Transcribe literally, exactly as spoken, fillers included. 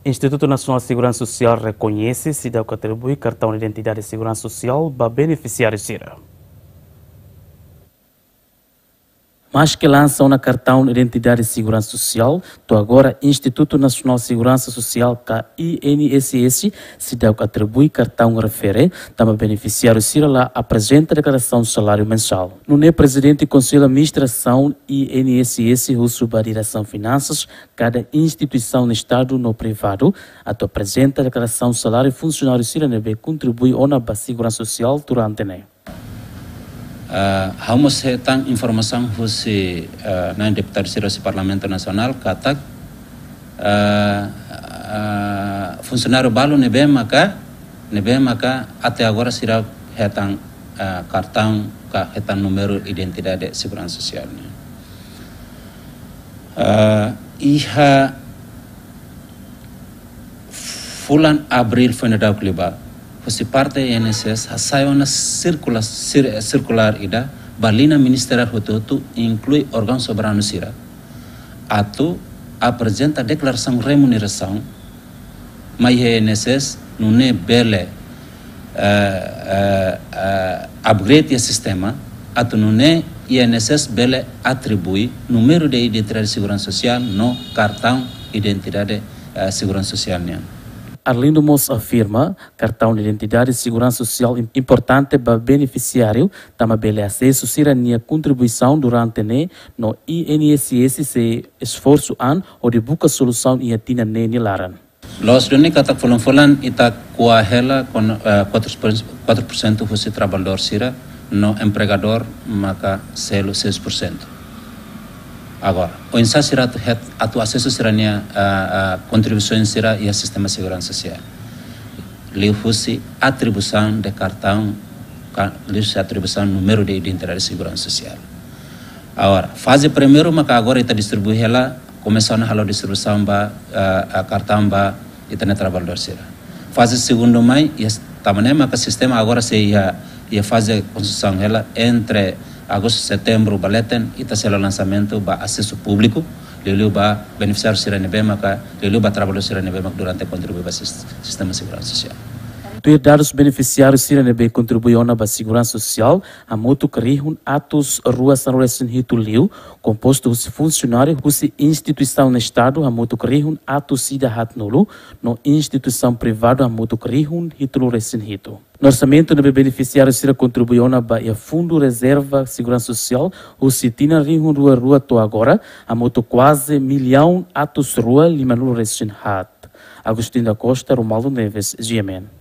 Institutu Nasionál Seguransa Sosiál rekoñese seidauk atribui kartaun identidade seguransa sosiál ba benefisiáriu sira. Maske lansa ona kartaun identidade seguransa sosiál, to'o agora Institutu Nasionál Seguransa Sosiál ka I N S S seidauk atribui kartaun refere tanba benefisiáriu sira la aprezenta deklarasaun saláriu mensál. Nune'e Prezidente Konsellu Administrasaun I N S S husu ba Diresaun Finansas kada instituisaun Estadu no privadu atu aprezenta deklarasaun saláriu funsionáriu sira ne'ebé kontribui ona ba seguransa sosiál durante ne'e. Ah, ha'u mós hetan informasaun husi, ah, na'in deputadu sira husi Parlamentu Nasionál katak, ah, ah, funsionáriu balu ne'ebé maka, ne'ebé maka até agora sira hetan, ah, kartaun ka hetan númeru identidade seguransa sosiál nian. Ah, iha fulan Abríl foin daudauk liubá, husi parte I N S S hasai ona sirkula-, sir-, sirkulár ida ba liña ministeriál hotu-hotu, inklui órgaun soberanu sira, atu aprezenta deklarasaun remunerasaun mai iha I N S S, nune'e bele, eh, eh, eh, upgrade iha sistema, atu nune'e I N S S bele atribui númeru de identidade seguransa sosiál no kartaun identidade, eh, seguransa sosiál nian. Arlindo mós afirma, kartaun identidade seguransa sosiál im-, importante ba benefisiáriu, tanba bele asesu sira-nia kontribuisaun durante ne'e, no I N S S sei esforsu an hodi buka solusaun iha tinan ne'e nia laran. Loos duni katak fulan-fulan ita ko'a hela kon-, eh, quatro por cento, quatro por cento husi traballadór sira, no empregadór maka selu seis por cento. Agora, oinsá sira atu het-, atu asesu sira-nia, ah, ah, kontribuisaun sira iha sistema seguransa sosiál? Liuhusi atribuisaun de kartaun, ka-, liuhusi atribuisaun númeru de identidade seguransa sosiál. Agora, faze primeiru maka agora ita distribui hela, komesa ona halo distribuisaun ba, ah, ah, kartaun ba ita-nia traballadór sira. Faze segundu mai, iha s-, tanba ne'e maka sistema agora sei iha, iha faze konstrusaun hela entre agostu, setembru ba leten, ita sei halo lansamentu ba asesu públiku, liuliu ba benefisiáriu sira ne'ebé maka, liuliu ba traballadór sira ne'ebé maka durante kontribui ba sis-, sistema seguransa sosiál. Tuir dadus benefisiáriu sira ne'ebé kontribui ona ba seguransa sosiál, hamutuk rihun atus rua sanulu resin hitu liu, kompostu husi funsionáriu husi instituisaun Estadu hamutuk rihun atus ida haatnulu, no instituisaun privadu hamutuk rihun hitunulu resin hitu. No orsamentu ne'ebé benefisiáriu sira kontribui ona ba iha Fundu Rezerva Seguransa Sosiál husi tinan rihun rua rua to'o agora, hamutuk kuaze millaun atus rua limanulu resin haat. Agostinho da Costa, Romualdo Neves, G M N.